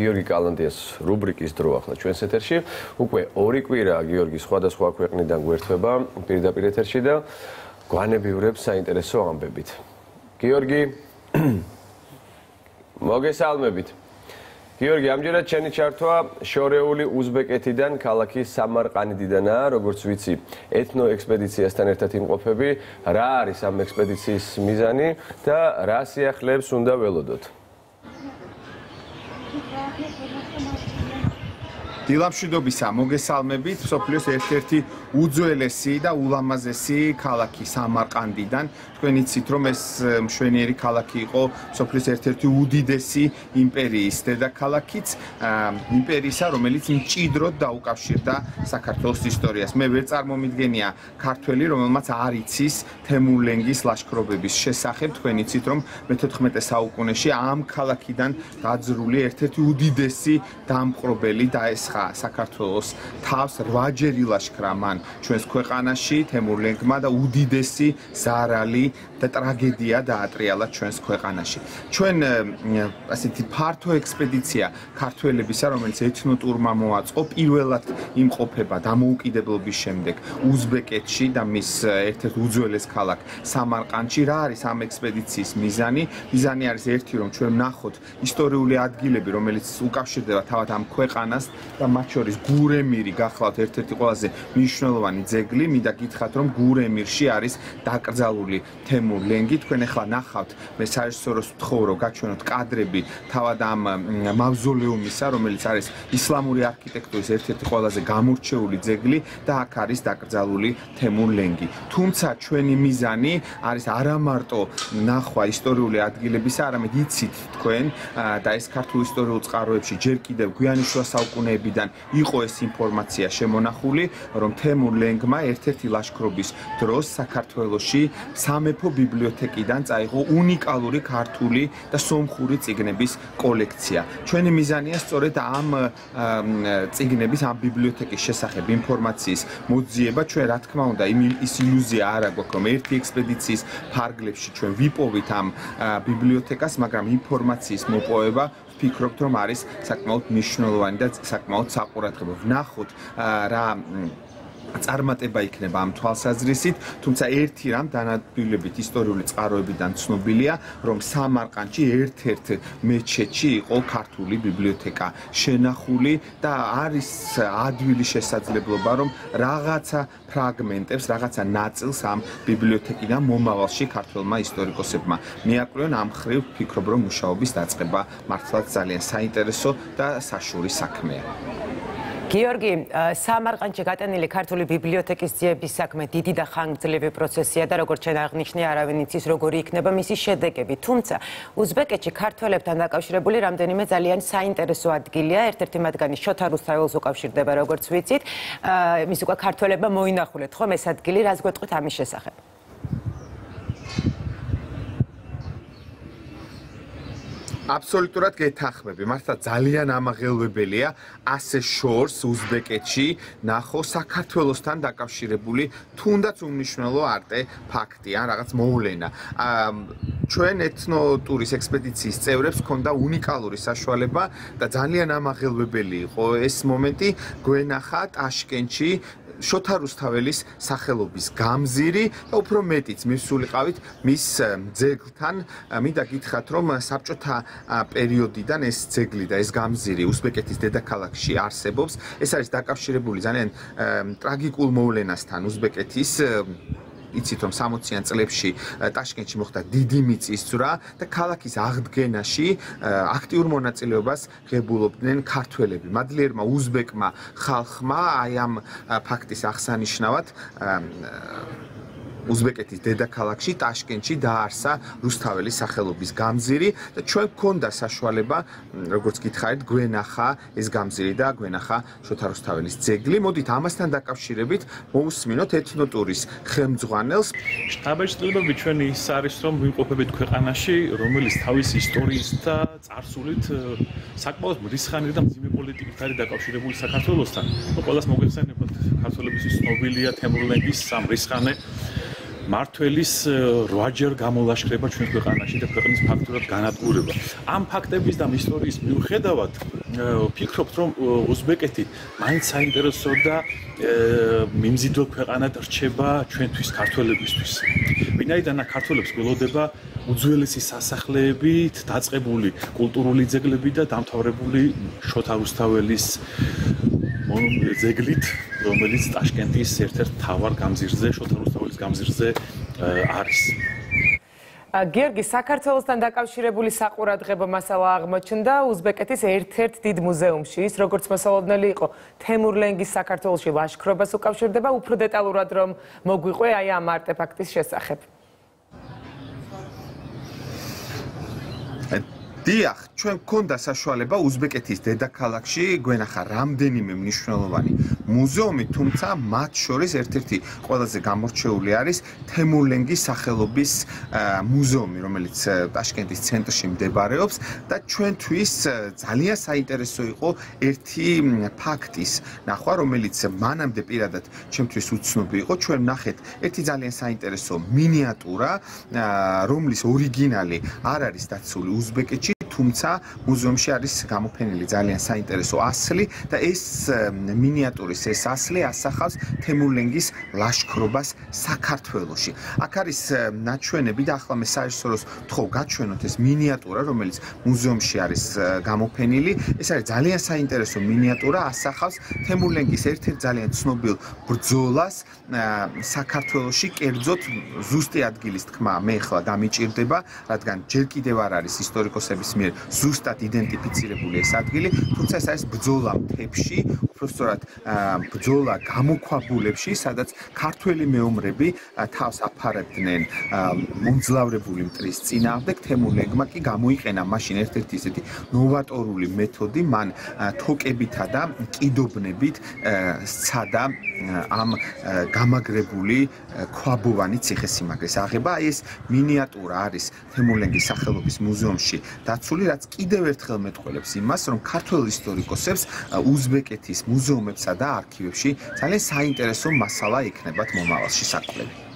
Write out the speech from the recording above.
გიორგი კალანდიას რუბრიკის დრო ახლა ჩვენს ეთერში. უკვე 2 კვირაა გიორგი სხვადასხვა ქვეყნიდან გვერდება პირდაპირ ეთერში და გვანებიურებს საინტერესო ამბებით. გიორგი, მოგესალმებით. გიორგი, ამჯერად ჩემი ჩართვა შორეული უზბეკეთიდან ქალაქი სამარყანდიდანაა, როგორც ვიცი, ეთნო ექსპედიციასთან ერთად იმყოფები. რა არის ამ ექსპედიციის მიზანი და რა სიახლეებს უნდა ველოდოთ? დილამშვიდობისა, მოგესალმებით. მსოფლიოს ერთ-ერთი უძველესი და ულამაზესი ქალაქი სამარყანდიდან. თქვენ იცით, რომ ეს მშვენიერი ქალაქი იყო მსოფლიოს ერთ-ერთი უდიდესი იმპერიის დედაქალაქიც, იმპერიისა, რომელიც მჭიდროდ დაუკავშირდა საქართველოს ისტორიას. მე ვერ წარმომიდგენია ქართველი, რომელმაც არ იცის თემურლენგის ლაშქრობების შესახებ. თქვენ იცით, რომ მე-14 საუკუნეში ამ ქალაქიდან გაძრული ერთ-ერთი უდიდესი დამპყრობელი დაესხა საქართველოს თავს 8-ჯერ ილაშქრა მან ჩვენს ქვეყანაში თემურლენგმა და უდიდესი ზარალი და ტრაგედია დაატრიალა ჩვენს ქვეყანაში. ჩვენ ასეთი ფართო ექსპედიცია ქართველებისა, რომელიც ეთნოტურმა მოაწყო, პირველად იმყოფება დამოუკიდებლობის შემდეგ უზბეკეთში და მის ერთ-ერთ უძველეს ქალაქ სამარყანდში. რა არის ამ ექსპედიციის მიზანი? მიზანი არის ერთი, რომ ჩვენ ვნახოთ ისტორიული ადგილები, რომელიც უკავშირდება თავად ამ ქვეყანას და მათ შორის გურემირი გახლავთ ერთ-ერთი ყველაზე მნიშვნელოვანი ძეგლი. მინდა გითხრათ, რომ გურემირში არის დაკრძალული თემურლენგი. თქვენ ახლა ნახავთ, მე საერთოდ ვთხოვრო გაჩვენოთ კადრები თავად ამ მავზოლეუმისა, რომელიც არის ისლამური არქიტექტურის ერთ-ერთი ყველაზე გამორჩეული ძეგლი და აქ არის დაკრძალული თემურლენგი. თუმცა ჩვენი მიზანი არის არა მარტო ნახვა ისტორიული ადგილებისა, არამედ იცით თქვენ და ეს ქართულ ისტორიულ წყაროებში ჯერ კიდევ გვიანი შუა საუკუნეებიდან იყო ეს ინფორმაცია შემონახული, რომ თემურლენგმა ერთ-ერთი ლაშქრობის დროს საქართველოში სამეფო ბიბლიოთეკიდან წაიღო უნიკალური ქართული და სომხური წიგნების კოლექცია. ჩვენი მიზანია სწორედ ამ წიგნების, ამ ბიბლიოთეკის შესახებ ინფორმაციის მოძიება. ჩვენ რა თქმა უნდა ის ილუზია არ აქვს, რომ ერთი ექსპედიციის ფარგლებში ჩვენ ვიპოვით ამ ბიბლიოთეკას, მაგრამ ინფორმაციის მოპოვება ვფიქრობთ, რომ არის საკმაოდ მნიშვნელოვანი და საკმაოდ საყურადღებო. ვნახოთ რა წარმატება იქნება ამ თვალსაზრისით, თუმცა ერთი რამ დანადგილებით ისტორიული წყაროებიდან ცნობილია, რომ სამარყანდში ერთ-ერთ მეჩეთში იყო ქართული ბიბლიოთეკა შენახული და არის ადვილი შესაძლებლობა, რომ რაღაცა ფრაგმენტებს, რაღაცა ნაწილს ამ ბიბლიოთეკიდან მომავალში ქართველმა ისტორიკოსებმა მიაკვლევენ. ამ ხრივ ვფიქრობ, რომ მუშაობის დაწყება მართლაც ძალიან საინტერესო და საშუური საქმეა. გიორგი, სამარყანდში გატანილი ქართული ბიბლიოთეკის ძიების საქმე დიდი და ხანგრძლივი პროცესია და როგორც შენ აღნიშნე, არავინ იცის როგორი იქნება მისი შედეგები. თუმცა უზბეკეთში ქართველებთან დაკავშირებული რამდენიმე ძალიან საინტერესო ადგილია. ერთ-ერთი მათგანი შოთა რუსთაველს უკავშირდება, როგორც ვიცით. მის უკვე ქართველებმა მოინახულეთ ხომ ეს ადგილი, რას გვეტყვით ამის შესახებ? აბსოლუტურად გეთანხმები. მართლა ძალიან ამაღელვებელია ასე შორს უზბეკეთში ნახო საქართველოსთან დაკავშირებული თუნდაც უმნიშვნელო არტეფაქტი ან რაღაც მოვლენა. ჩვენ ეთნოტურის ექსპედიციის წევრებს ჰქონდა უნიკალური საშუალება და ძალიან ამაღელვებელი იყო ეს მომენტი გვენახა ტაშკენტში შოთა რუსთაველის სახელობის გამზირი და უფრო მეტიც მივსულიყავით მის ძეგლთან. მინდა გითხრათ, რომ საბჭოთა პერიოდიდან ეს ძეგლი და ეს გამზირი უზბეკეთის დედაქალაქში არსებობს. ეს არის დაკავშირებული ძალიან ტრაგიკულ მოვლენასთან უზბეკეთის. იცით, რომ 60-იან წლებში ტაშკენტში მოხდა დიდი მიწისძვრა და ქალაქის აღდგენაში აქტიურ მონაწილეობას ღებულობდნენ ქართველები. მადლიერმა უზბეკმა ხალხმა აი ამ ფაქტის აღსანიშნავად უზბეკეთის დედაქალაქში ტაშკენტში დაარსა რუსთაველის სახელობის გამზირი და ჩვენ გვქონდა საშუალება, როგორც გითხარით, გვენახა ეს გამზირი და გვენახა შოთა რუსთაველის ძეგლი. მოდით ამასთან დაკავშირებით მოусმინოთ ეთნოტურის ხელმძღვანელს. შტაბ-ჭრილობები ჩვენი ის არის, რომ ვიმყოფებით ქვეყანაში, რომელიც თავის ისტორიის და წარსულით საკმაოდ მრისხანე და მძიმე პოლიტიკით არის დაკავშირებული საქართველოსთან. ყველას მოგეხსენებათ, ქართველებისთვის ცნობილია თემურლენგის სამრისხანე მართველის 8-ჯერ გამოლაშქრება ჩვენ ქვეყანაში და ქვეყნის ფაქტურად განადგურება. ამ ფაქტების და ისტორიის მიუხედავად ვფიქრობთ, რომ უზბეკეთი მაინც საინტერესო და მიმზიდველ ქვეყანად რჩება ჩვენთვის ქართველებისთვის. ვინაიდან ქართველებს გველოდება უძველესი სასახლეებით დაწყებული კულტურული ძეგლები და დამთავრებული შოთა რუსთაველის ძეგლით, რომელიც ტაშკენტის ერთ-ერთ მთავარ გამზირზე, შოთა რუსთაველის გამზირზე არის. გიორგი, საქართველოსთან დაკავშირებული საყურადღებო მასალა აღმოჩნდა უზბეკეთის ერთ-ერთ დიდ მუზეუმში. ის როგორც მოსალოდნელი იყო თემურლენგის საქართველოში ლაშქრობას უკავშირდება, უფრო დეტალურად რომ მოგვიყვე აი ამ არტეფაქტის შესახებ. დიახ, ჩვენ გვქონდა საშუალება უზბეკეთის დედაქალაქში გვენახა რამდენიმე მნიშვნელოვანი მუზეუმი, თუმცა მათ შორის ერთ-ერთი ყველაზე გამორჩეული არის თემურლენგის სახელობის მუზეუმი, რომელიც ტაშკენტის ცენტრში მდებარეობს და ჩვენთვის ძალიან საინტერესო იყო ერთი ფაქტის ნახვა, რომელიც მანამდე პირადად ჩემთვის უცნობი იყო. ჩვენ ვნახეთ ერთი ძალიან საინტერესო მინიატურა, რომლის ორიგინალი არ არის დაცული უზბეკეთში, თუმცა მუზეუმში არის გამოფენილი ძალიან საინტერესო ასლი და ეს მინიატურის ეს ასლი ასახავს თემურლენგის ლაშქრობას საქართველოში. აქ არის ნაჩვენები და ახლა მე საერთოდ ვთხოვ გაჩვენოთ ეს მინიატურა, რომელიც მუზეუმში არის გამოფენილი. ეს არის ძალიან საინტერესო მინიატურა, ასახავს თემურლენგის ერთ-ერთ ძალიან ცნობილ ბრძოლას საქართველოში, კერძოდ ზუსტი ადგილის თქმა მე ახლა გამიჭირდება, რადგან ჯერ კიდევ არ არის ისტორიკოსების მიერ ზუსტად იდენტიფიცირებული ეს ადგილი, თუმცა ეს არის ბრძოლა მთებში, უბრალოდ ბრძოლა გამოქვაბულებში, სადაც ქართველი მეომრები თავს აფარებდნენ მომძლავრებული მტრის წინააღმდეგ. თემურლენგმა კი გამოიყენა მაშინ ერთ-ერთი ისეთი ნოვატორული მეთოდი, მან თოკებითა და კიდობნებით სცადა ამ გამაგრებული ქვაბოვანი ციხესიმაგრეს აღება. აი ეს მინიატურა არის თემურლენგის სახელობის მუზეუმში დაცული, რაც კიდევ ერთხელ მეტყველებს იმას, რომ ქართველ ისტორიკოსებს უზბეკეთის მუზეუმებსა და არქივებში ძალიან საინტერესო მასალა ექნებათ მომავალში საკვლევი.